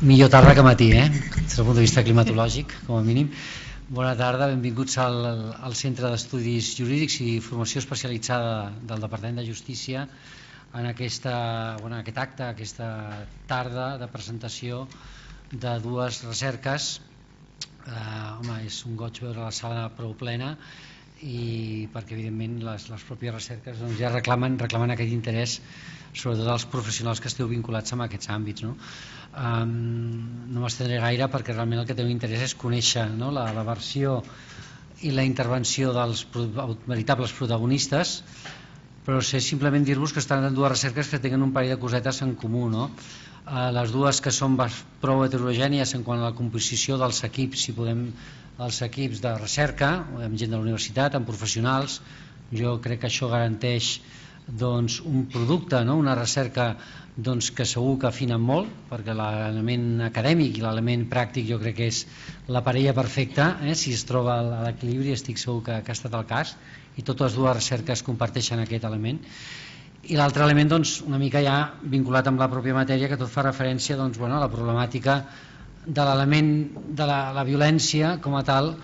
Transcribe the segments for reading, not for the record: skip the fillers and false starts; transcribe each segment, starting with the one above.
Millor tarda que matí, des del punt de vista climatològic, com a mínim. Bona tarda, benvinguts al Centre d'Estudis Jurídics i Formació Especialitzada del Departament de Justícia en aquest acte, aquesta tarda de presentació de dues recerques. Home, és un goig veure la sala prou plena, i perquè evidentment les pròpies recerques ja reclamen aquest interès, sobretot els professionals que esteu vinculats amb aquests àmbits. No m'estendré gaire perquè realment el que teniu interès és conèixer la versió i la intervenció dels veritables protagonistes, però sé simplement dir-vos que estan en dues recerques que tenen un parell de cosetes en comú. Les dues que són prou heterogènies en quant a la composició dels equips, els equips de recerca, amb gent de la universitat, amb professionals. Jo crec que això garanteix un producte, una recerca que segur que afinen molt, perquè l'element acadèmic i l'element pràctic jo crec que és la parella perfecta, si es troba a l'equilibri, estic segur que ha estat el cas, i totes dues recerques comparteixen aquest element. I l'altre element una mica ja vinculat amb la pròpia matèria, que tot fa referència a la problemàtica de l'element de la violència com a tal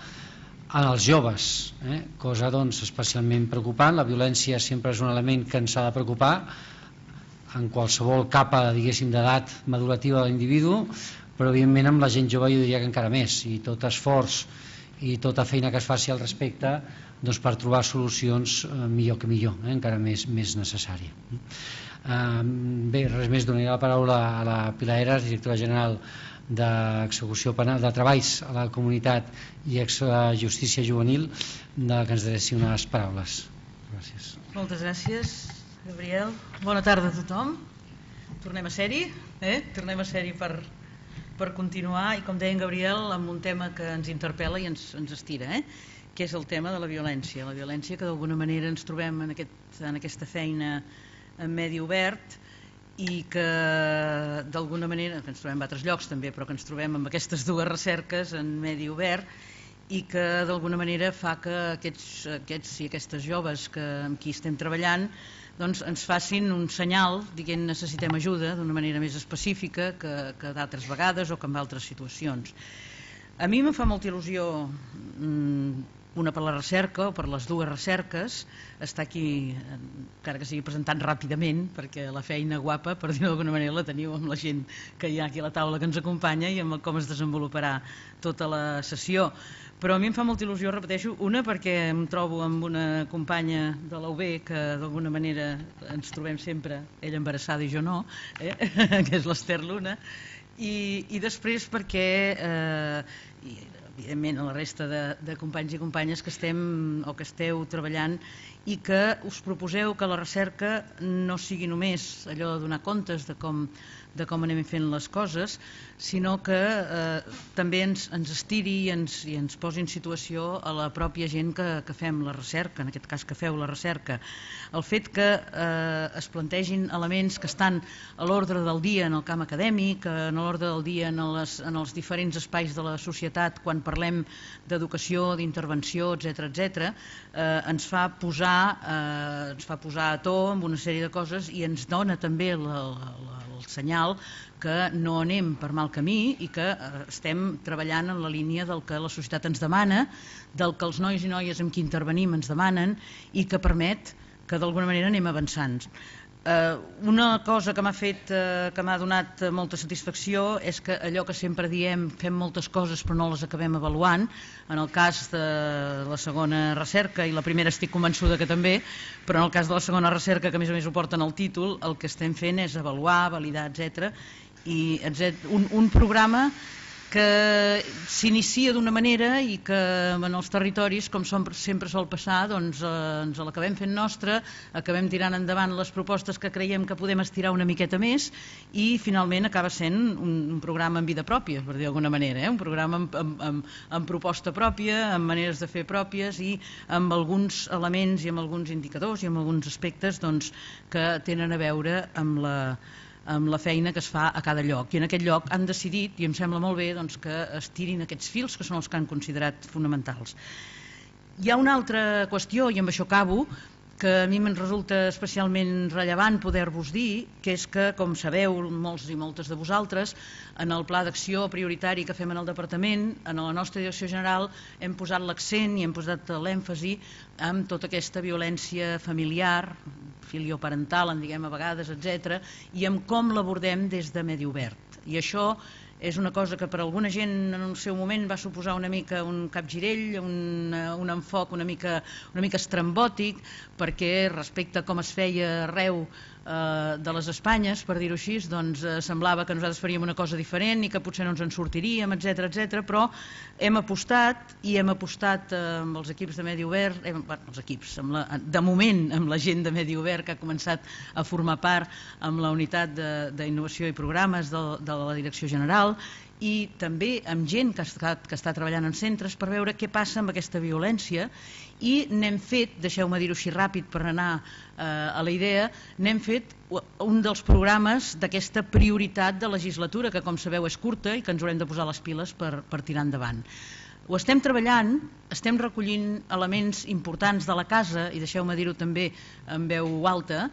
en els joves, cosa especialment preocupant. La violència sempre és un element que ens ha de preocupar en qualsevol capa d'edat madurativa de l'individu, però evidentment amb la gent jove jo diria que encara més, i tot esforç i tota feina que es faci al respecte per trobar solucions millor que millor, encara més necessària. Bé, res més, donaré la paraula a la Pilar Heras, directora general d'Execució Penal, de Treballs a la Comunitat i Justícia Juvenil, que ens adreci unes paraules. Gràcies. Moltes gràcies, Gabriel. Bona tarda a tothom. Tornem a ser-hi, tornem a ser-hi per continuar, i com deia en Gabriel, amb un tema que ens interpel·la i ens estira, que és el tema de la violència que d'alguna manera ens trobem en aquesta feina en medi obert, i que d'alguna manera ens trobem en altres llocs també, però que ens trobem amb aquestes dues recerques en medi obert, i que d'alguna manera fa que aquests i aquestes joves amb qui estem treballant ens facin un senyal dient necessitem ajuda d'una manera més específica que d'altres vegades o que en altres situacions. A mi em fa molta il·lusió, una per la recerca o per les dues recerques, estar aquí, encara que sigui presentant ràpidament, perquè la feina guapa, per dir-ho d'alguna manera, la teniu amb la gent que hi ha aquí a la taula que ens acompanya i amb com es desenvoluparà tota la sessió. Però a mi em fa molta il·lusió, repeteixo, una perquè em trobo amb una companya de la UB que d'alguna manera ens trobem sempre, ella embarassada i jo no, que és l'Ester Luna, i després perquè evidentment a la resta de companys i companyes que estem o que esteu treballant i que us proposeu que la recerca no sigui només allò de donar comptes de com anem fent les coses, sinó que també ens estiri i ens posi en situació a la pròpia gent que fem la recerca, en aquest cas que feu la recerca. El fet que es plantegin elements que estan a l'ordre del dia en el camp acadèmic, a l'ordre del dia en els diferents espais de la societat quan parlem d'educació, d'intervenció, etc., ens fa posar a to amb una sèrie de coses i ens dona també el senyal que no anem per mal camí i que estem treballant en la línia del que la societat ens demana, del que els nois i noies amb qui intervenim ens demanen i que permet que d'alguna manera anem avançant. Una cosa que m'ha donat molta satisfacció és que allò que sempre diem, fem moltes coses però no les acabem avaluant. En el cas de la segona recerca, i la primera estic convençuda que també, però en el cas de la segona recerca, que a més ho porten al títol, el que estem fent és avaluar, validar, etc. I un programa que s'inicia d'una manera i que en els territoris, com sempre sol passar, ens l'acabem fent nostra, acabem tirant endavant les propostes que creiem que podem estirar una miqueta més i finalment acaba sent un programa amb vida pròpia, per dir d'alguna manera, un programa amb proposta pròpia, amb maneres de fer pròpies i amb alguns elements i amb alguns indicadors i amb alguns aspectes que tenen a veure amb la feina que es fa a cada lloc. I en aquest lloc han decidit, i em sembla molt bé, que estirin aquests fils que són els que han considerat fonamentals. Hi ha una altra qüestió, i amb això acabo, que a mi me'n resulta especialment rellevant poder-vos dir, que és que, com sabeu molts i moltes de vosaltres, en el pla d'acció prioritari que fem en el departament, en la nostra direcció general hem posat l'accent i hem posat l'èmfasi en tota aquesta violència familiar, filioparental, en diguem a vegades, etc., i en com l'abordem des de Medi Obert. I això és una cosa que per a alguna gent en el seu moment va suposar una mica un capgirell, un enfoc una mica estrambòtic, perquè respecte a com es feia arreu de les Espanyes, per dir-ho així, doncs semblava que nosaltres faríem una cosa diferent i que potser no ens en sortiríem, etc., però hem apostat amb els equips de Medi Obert, de moment amb la gent de Medi Obert que ha començat a formar part amb la unitat d'innovació i programes de la direcció general, i també amb gent que està treballant en centres per veure què passa amb aquesta violència, i n'hem fet, deixeu-me dir-ho així ràpid per anar a la idea, n'hem fet un dels programes d'aquesta prioritat de legislatura, que com sabeu és curta i que ens haurem de posar les piles per tirar endavant. Ho estem treballant, estem recollint elements importants de la casa, i deixeu-me dir-ho també en veu alta,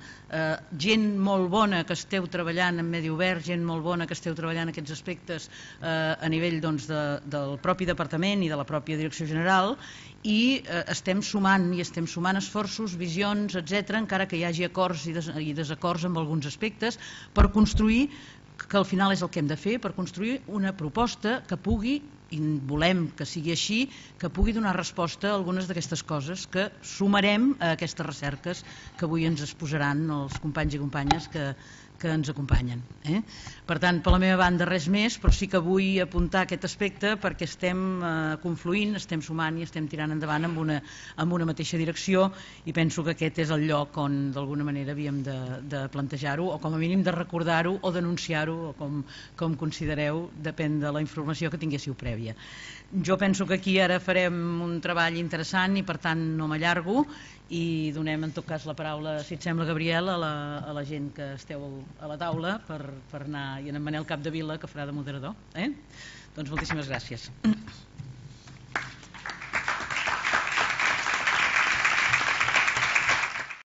gent molt bona que esteu treballant en Medi Obert, gent molt bona que esteu treballant aquests aspectes a nivell del propi departament i de la pròpia direcció general, i estem sumant esforços, visions, etc., encara que hi hagi acords i desacords amb alguns aspectes, per construir, que al final és el que hem de fer, per construir una proposta que pugui, i volem que sigui així, que pugui donar resposta a algunes d'aquestes coses que sumarem a aquestes recerques que avui ens exposaran els companys i companyes que ens acompanyen. Per tant, per la meva banda res més, però sí que vull apuntar aquest aspecte perquè estem confluint, estem sumant i estem tirant endavant amb una mateixa direcció, i penso que aquest és el lloc on d'alguna manera havíem de plantejar-ho, o com a mínim de recordar-ho o denunciar-ho, o com considereu, depèn de la informació que tinguéssiu prèvia. Jo penso que aquí ara farem un treball interessant i per tant no m'allargo, i donem en tot cas la paraula, si et sembla, Gabriel, a la gent que esteu a la taula per anar, i en Manel Capdevila, que farà de moderador. Doncs moltíssimes gràcies.